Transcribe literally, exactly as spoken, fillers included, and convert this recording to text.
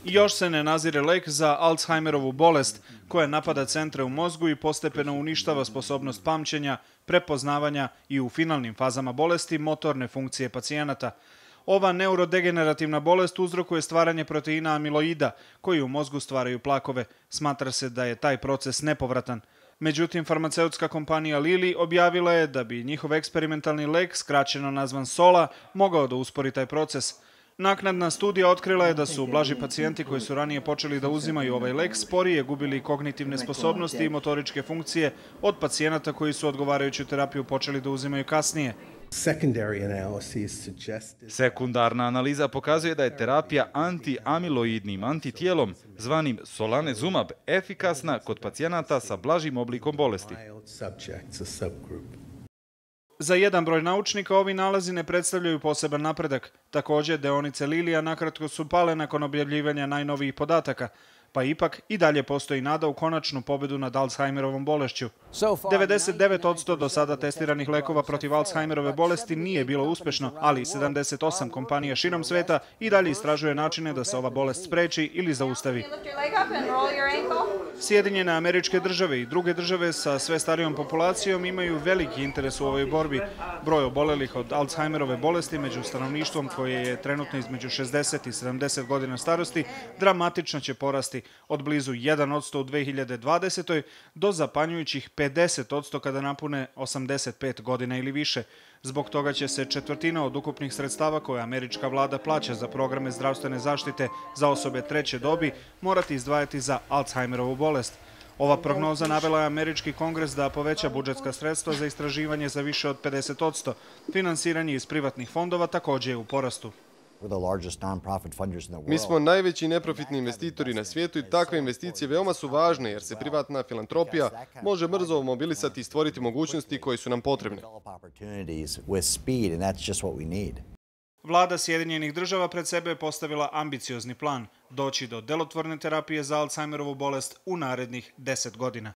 Još se ne nazire lek za Alzheimerovu bolest, koja napada centre u mozgu i postepeno uništava sposobnost pamćenja, prepoznavanja i u finalnim fazama bolesti motorne funkcije pacijenata. Ova neurodegenerativna bolest uzrokuje stvaranje proteina amiloida, koji u mozgu stvaraju plakove. Smatra se da je taj proces nepovratan. Međutim, farmaceutska kompanija Lilly objavila je da bi njihov eksperimentalni lek, skraćeno nazvan Sola, mogao da uspori taj proces. Naknadna studija otkrila je da su blaži pacijenti koji su ranije počeli da uzimaju ovaj lek sporije gubili kognitivne sposobnosti i motoričke funkcije od pacijenata koji su odgovarajuću terapiju počeli da uzimaju kasnije. Sekundarna analiza pokazuje da je terapija antiamiloidnim antitijelom, zvanim solanezumab, efikasna kod pacijenata sa blažim oblikom bolesti. Za jedan broj naučnika ovi nalazi ne predstavljaju poseban napredak. Također, deonice Lilija nakratko su pale nakon objavljivanja najnovijih podataka, pa ipak i dalje postoji nada u konačnu pobedu nad Alzheimerovom bolešću. devedeset devet posto do sada testiranih lekova protiv Alzheimerove bolesti nije bilo uspešno, ali sedamdeset osam kompanija širom sveta i dalje istražuje načine da se ova bolest spreči ili zaustavi. Sjedinjene Američke Države i druge države sa sve starijom populacijom imaju veliki interes u ovoj borbi. Broj obolelih od Alzheimerove bolesti među stanovništvom, koje je trenutno između šezdeset i sedamdeset godina starosti, dramatično će porasti od blizu jedan posto u dve hiljade dvadesetoj. do zapanjujućih pedeset posto kada napune osamdeset pet godina ili više. Zbog toga će se četvrtina od ukupnih sredstava koje američka vlada plaća za programe zdravstvene zaštite za osobe treće dobi morati izdvajati za Alzheimerovu bolest. Ova prognoza navela je američki kongres da poveća budžetska sredstva za istraživanje za više od pedeset posto. Finansiranje iz privatnih fondova također je u porastu. Mi smo najveći neprofitni investitori na svijetu i takve investicije veoma su važne jer se privatna filantropija može brzo mobilisati i stvoriti mogućnosti koje su nam potrebne. Vlada Sjedinjenih Država pred sebe je postavila ambiciozni plan – doći do delotvorne terapije za Alzheimerovu bolest u narednih deset godina.